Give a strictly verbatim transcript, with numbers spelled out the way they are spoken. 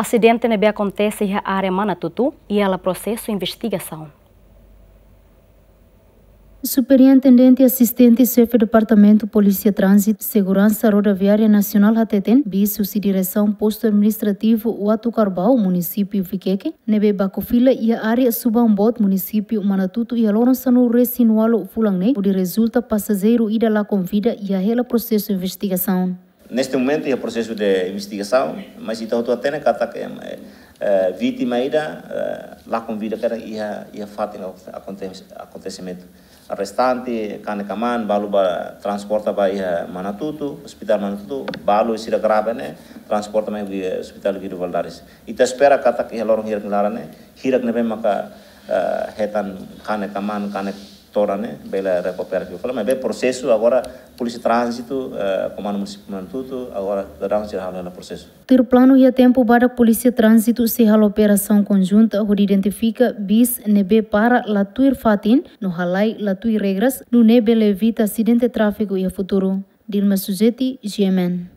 Asidente ne'ebé akontese iha área Manatutu iha hela prosesu investigasaun. Superintendente Asistente Xefe Departamentu Polísia Tránzitu Seguransa Rodoviária Nasionál hateten, bis husi Diresaun Postu Administrativu Uatucarbau, Munisípiu Viqueque, ne'ebé baku fila iha área Subaun Boot, Munisípiu Manatutu, iha loron sanulu-resin-ualu fulan ne'e, hodi rezulta pasajeiru ida lakon vida iha hela prosesu investigasaun. Neste momento iha prosesu de investigasaun, mas ita hotu hatene katak, eh, eh, vítima ida, eh, lakon vida katak iha, iha fatin akonte-, akontesimentu. Restante, kanek-kmaan, balu ba transporta ba iha Manatutu, Hospital Manatutu, balu sira grave ne'e, transporta mai iha Hospital Guido Valadares. Ita espera katak iha loron hirak nia laran ne'e, hirak ne'ebé maka, eh, hetan kanek-kmaan, kanek todan ne'e, bele rekupera fila fali, maibé prosesu agora Polísia Tránzitu, eh, Komandu Munisípiu Manatutu, agora daudaun sira halo hela prosesu. Tuir planu iha tempu badak Polísia Tránzitu sei halo operasaun konjunta hodi identifika bis ne'ebé para la tuir fatin, no halai la tuir regras, nune'e bele evita asidente tráfiku iha futuru. Dilma Suzeti, G M N.